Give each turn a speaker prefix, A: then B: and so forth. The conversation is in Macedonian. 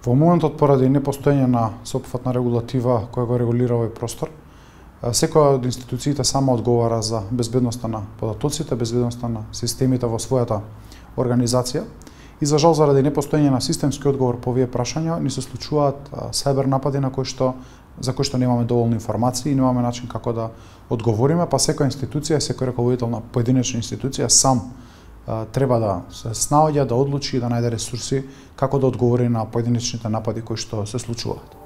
A: Во моментот, поради непостоење на сеопфатна регулатива која го регулира овој простор, секоја од институциите сама одговара за безбедноста на податоците, безбедноста на системите во својата организација. И за жал, заради непостоење на системски одговор по овие прашања, ни се случуваат сајбер напади за кои што немаме доволно информации и немаме начин како да одговориме, па секоја институција, секој раководител на поединечна институција сам треба да се снаоѓа, да одлучи и да најде ресурси како да одговори на поединечните напади кои што се случуваат.